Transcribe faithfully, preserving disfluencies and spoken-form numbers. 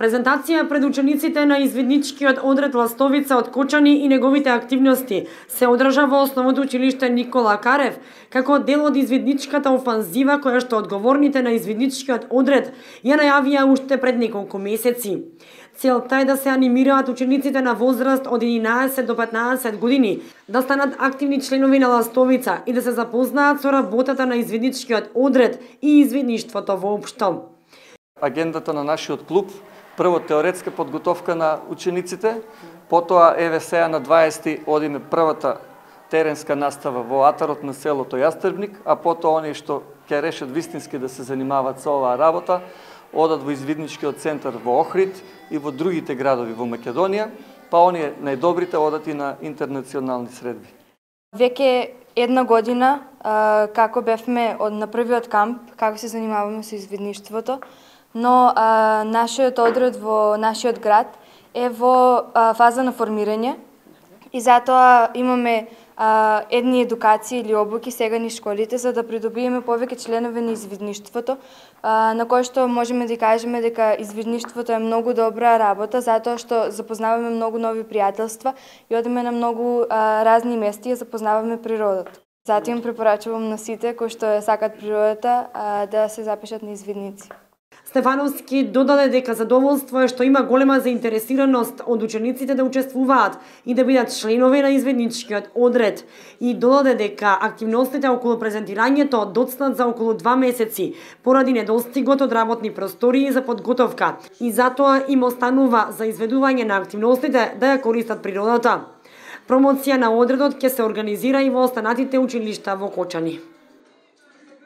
Презентација пред учениците на извидничкиот одред Ластовица од Кочани и неговите активности се одржа во Основното училиште Никола Карев, како дел од извидничката офанзива која што одговорните на извидничкиот одред ја најавија уште пред неколку месеци. Целта е да се анимираат учениците на возраст од единаесет до петнаесет години, да станат активни членови на Ластовица и да се запознаат со работата на извидничкиот одред и извидништвото воопшто. Агендата на нашиот клуб, прво теоретска подготовка на учениците, потоа еве сега на дваесети одиме првата теренска настава во атарот на селото Јастребник, а потоа оние што ќе решат вистински да се занимаваат со оваа работа, одат во извидничкиот центар во Охрид и во другите градови во Македонија, па оние најдобрите одат и на интернационални средби. Веќе една година како бевме од на првиот камп, како се занимаваме со извидништвото, но а, нашиот одред во нашиот град е во а, фаза на формирање и затоа имаме а, едни едукации или обуки сега низ школите за да придобиеме повеќе членови на извидништвото, а, на кој што можеме да кажеме дека извидништвото е многу добра работа затоа што запознаваме многу нови пријателства и одиме на многу а, разни места и запознаваме природата. Затоа им препорачувам на сите кои што сакаат природата а, да се запишат на извидници. Стефановски додаде дека задоволство е што има голема заинтересираност од учениците да учествуваат и да бидат членови на извидничкиот одред и додаде дека активностите околу презентирањето доцнат за околу два месеци поради недостигот од работни простории за подготовка и затоа им останува за изведување на активностите да ја користат природата. Промоција на одредот ќе се организира и во останатите училишта во Кочани.